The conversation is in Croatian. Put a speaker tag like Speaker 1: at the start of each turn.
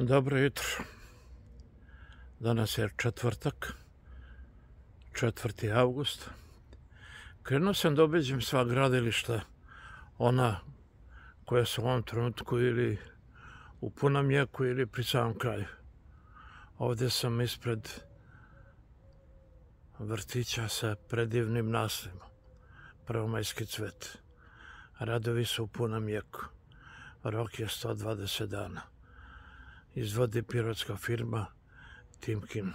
Speaker 1: Dobro jutro. Danas je četvrtak, 4. avgust. Krenuo sam da obiđem sva gradilišta, ona koja su u ovom trenutku ili u punom jeku ili pri samom kraju. Ovdje sam ispred vrtića sa predivnim naslovima, Prvomajski cvet. Radovi su u punom jeku. Rok je 120 dana. Izvodi pirotska firma Timkin.